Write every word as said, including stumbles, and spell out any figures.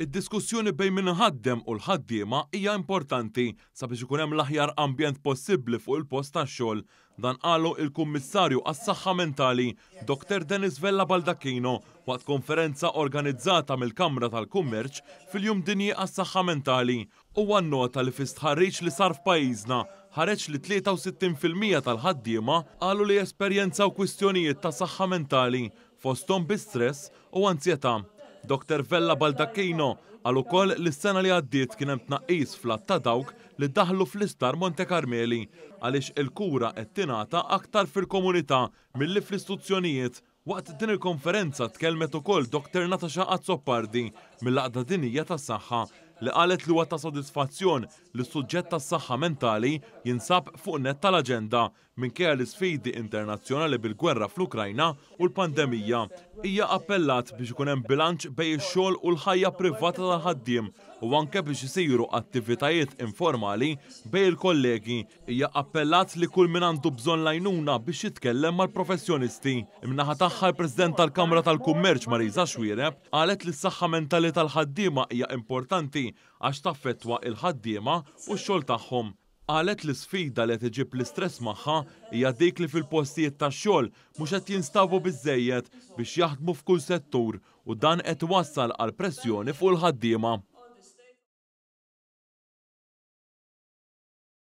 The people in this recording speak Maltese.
Id-diskussjoni bejn min iħaddem u l-ħaddiema hija importanti sabiex ikun hemm l-aħjar ambjent possibbli fuq il-post tax-xogħol. Dan qalu il-Kummissarju għas-Saħħa Mentali, Doktor Dennis Vella Baldacchino, waqt konferenza organizzata mill-Kamra tal-Kummerċ fil-Jum Dinji għas-Saħħa Mentali. Huwa nnota li fi stħarriġ li sar f'pajjiżna ħareġ li tlieta u sittin fil-mija tal-ħaddiema qalu li esperjenzaw kwistjonijiet ta' saħħa mentali fosthom bi stress u anzjetà. Doktor Vella Baldacchino qal ukoll li s-sena li għaddiet kien hemm tnaqqis fl-għadd ta' dawk li daħlu fl-Isptar Monte Carmeli għaliex il-kura qed tingħata aktar fil-komunità milli fl-istituzzjonijiet. Waqt din il-konferenza tkellmet ukoll Doktor Natasha Azzopardi mill-Għaqda Dinjija tas-Saħħa li qalet li huwa ta' sodisfazzjon li s-suġġett tas-saħħa mentali jinsab fuq nett tal-aġenda minkejja l-isfidi internazzjonali bil-gwerra fl-Ukrajna u l-pandemija. Hija appellat biex ikun hemm bilanċ bejn ix-xogħol u l-ħajja privata tal-ħaddiem u anke biex isiru attivitajiet informali bejn il-kollegi. Hija appellat li kull min għandu bżonn l-għajnuna biex jitkellem mal-professjonisti. Imnaħa tagħha l-President tal-Kamra tal-Kummerċ Marisa Xuereb qalet li s-saħħa mentali tal-ħaddiema hija importanti għax taffettwa il-ħaddiema u x-xogħol tagħhom. Qalet li sfida li qed iġib l-istress magħha hija dik li fil-postijiet tax-xogħol mhux qed jinstabu biżżejjed biex jaħdmu f'kull settur u dan qed iwassal għal pressjoni fuq il-ħaddiema.